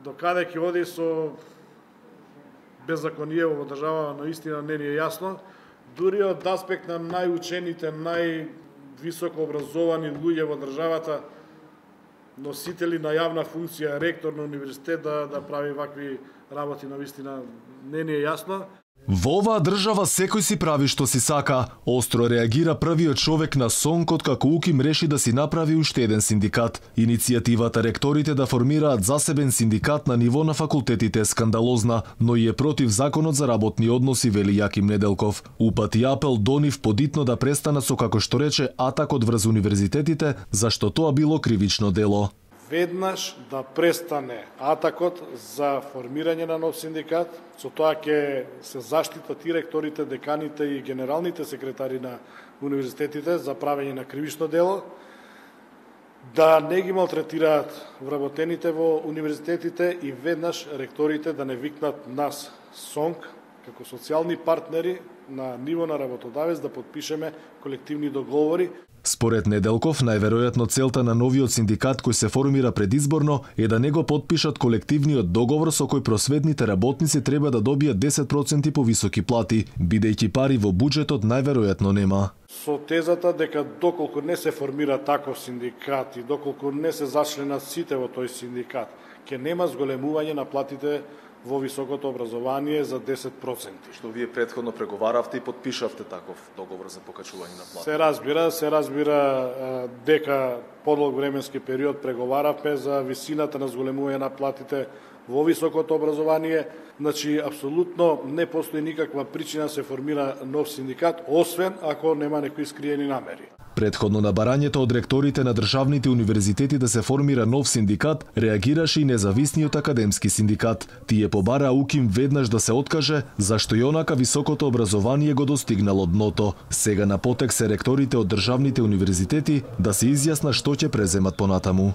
До каде ќе оди со беззаконие во држава, наистина не ни е јасно. Дури од аспект на најучените, највисоко образовани луѓе во државата, носители на јавна функција, ректор на универзитет да прави вакви работи, навистина не ни е јасно. Во оваа држава секој си прави што си сака. Остро реагира првиот човек на СОНК откако УКИМ реши да си направи уште еден синдикат. Иницијативата ректорите да формираат засебен синдикат на ниво на факултетите е скандалозна, но и е против законот за работни односи, вели Јаким Неделков. Упати апел до нив подитно да престанат со, како што рече, атакот врз универзитетите, зашто тоа било кривично дело. Веднаш да престане атакот за формирање на нов синдикат, со тоа ќе се заштитат и ректорите, деканите и генералните секретари на универзитетите за правење на кривично дело, да не ги малтретираат вработените во универзитетите и веднаш ректорите да не викнат нас СОНК како социјални партнери на ниво на работодавец да подпишеме колективни договори. Според Неделков, најверојатно целта на новиот синдикат кој се формира предизборно е да не го подпишат колективниот договор со кој просветните работници треба да добијат 10% повисоки плати, бидејќи пари во буџетот најверојатно нема. Со тезата дека доколку не се формира таков синдикат и доколку не се зачленат сите во тој синдикат, ќе нема зголемување на платите во високото образование за 10%. Што вие претходно преговаравте и подпишавте таков договор за покачување на плати. Се разбира дека подолг временски период преговаравме за висината на зголемување на платите во високото образование. Значи, апсолутно не постои никаква причина се формира нов синдикат, освен ако нема некои скриени намери. Предходно на барањето од ректорите на државните универзитети да се формира нов синдикат, реагираше и независниот академски синдикат. Тие побараа УКИМ веднаш да се откаже, зашто и онака високото образование го достигнало дното. Сега на потек се ректорите од државните универзитети да се изјаснат што ќе преземат понатаму.